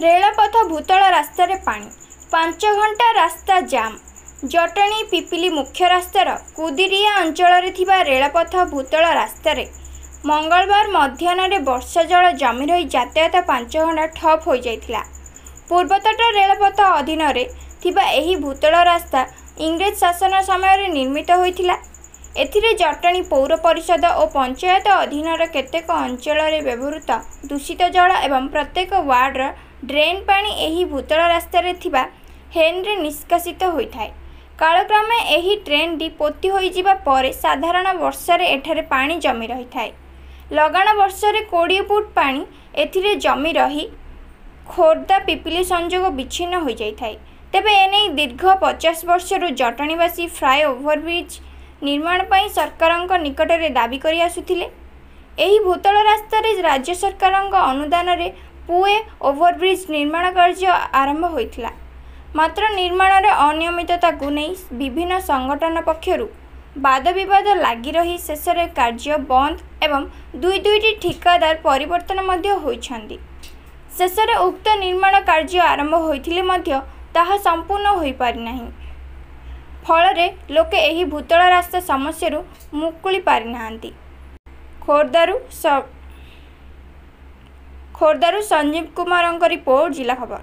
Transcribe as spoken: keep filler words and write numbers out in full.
ରେଳପଥ ଭୂତଳ ରାସ୍ତାରେ ପାଣି, ପାଞ୍ଚ ଘଣ୍ଟା ରାସ୍ତା ଜାମ୍। ଜଟଣୀ ପିପିଲି ମୁଖ୍ୟ ରାସ୍ତାର କୁଦିରିଆ ଅଞ୍ଚଳରେ ଥିବା ରେଳପଥ ଭୂତଳ ରାସ୍ତାରେ ମଙ୍ଗଳବାର ମଧ୍ୟାହ୍ନରେ ବର୍ଷା ଜଳ ଜମି ରହି ଯାତାୟାତ ପାଞ୍ଚ ଘଣ୍ଟା ଠପ୍ ହୋଇଯାଇଥିଲା। ପୂର୍ବତଟ ରେଳପଥ ଅଧୀନରେ ଥିବା ଏହି ଭୂତଳ ରାସ୍ତା ଇଂରେଜ ଶାସନ ସମୟରେ ନିର୍ମିତ ହୋଇଥିଲା। ଏଥିରେ ଜଟଣୀ ପୌର ପରିଷଦ ଓ ପଞ୍ଚାୟତ ଅଧୀନର କେତେକ ଅଞ୍ଚଳରେ ବ୍ୟବହୃତ ଦୂଷିତ ଜଳ ଏବଂ ପ୍ରତ୍ୟେକ ୱାର୍ଡର ଡ୍ରେନ୍ ପାଣି ଏହି ଭୂତଳ ରାସ୍ତାରେ ଥିବା ହେନ୍ରେ ନିଷ୍କାସିତ ହୋଇଥାଏ। କାଳକ୍ରମେ ଏହି ଡ୍ରେନ୍ଟି ପୋତି ହୋଇଯିବା ପରେ ସାଧାରଣ ବର୍ଷାରେ ଏଠାରେ ପାଣି ଜମି ରହିଥାଏ। ଲଗାଣ ବର୍ଷାରେ କୋଡ଼ିଏ ଫୁଟ ପାଣି ଏଥିରେ ଜମି ରହି ଖୋର୍ଦ୍ଧା ପିପିଲି ସଂଯୋଗ ବିଚ୍ଛିନ୍ନ ହୋଇଯାଇଥାଏ। ତେବେ ଏନେଇ ଦୀର୍ଘ ପଚାଶ ବର୍ଷରୁ ଜଟଣୀବାସୀ ଫ୍ଲାଏ ଓଭରବ୍ରିଜ୍ ନିର୍ମାଣ ପାଇଁ ସରକାରଙ୍କ ନିକଟରେ ଦାବି କରି ଆସୁଥିଲେ। ଏହି ଭୂତଳ ରାସ୍ତାରେ ରାଜ୍ୟ ସରକାରଙ୍କ ଅନୁଦାନରେ ପୁଏ ଓଭରବ୍ରିଜ୍ ନିର୍ମାଣ କାର୍ଯ୍ୟ ଆରମ୍ଭ ହୋଇଥିଲା। ମାତ୍ର ନିର୍ମାଣରେ ଅନିୟମିତତାକୁ ନେଇ ବିଭିନ୍ନ ସଂଗଠନ ପକ୍ଷରୁ ବାଦବିବାଦ ଲାଗି ରହି ଶେଷରେ କାର୍ଯ୍ୟ ବନ୍ଦ ଏବଂ ଦୁଇ ଦୁଇଟି ଠିକାଦାର ପରିବର୍ତ୍ତନ ମଧ୍ୟ ହୋଇଛନ୍ତି। ଶେଷରେ ଉକ୍ତ ନିର୍ମାଣ କାର୍ଯ୍ୟ ଆରମ୍ଭ ହୋଇଥିଲେ ମଧ୍ୟ ତାହା ସମ୍ପୂର୍ଣ୍ଣ ହୋଇପାରିନାହିଁ। ଫଳରେ ଲୋକେ ଏହି ଭୂତଳ ରାସ୍ତା ସମସ୍ୟାରୁ ମୁକୁଳି ପାରିନାହାନ୍ତି। ଖୋର୍ଦ୍ଧାରୁ ଖୋର୍ଦ୍ଧାରୁ ସଞ୍ଜୀବ କୁମାରଙ୍କ ରିପୋର୍ଟ, ଜିଲ୍ଲା ଖବର।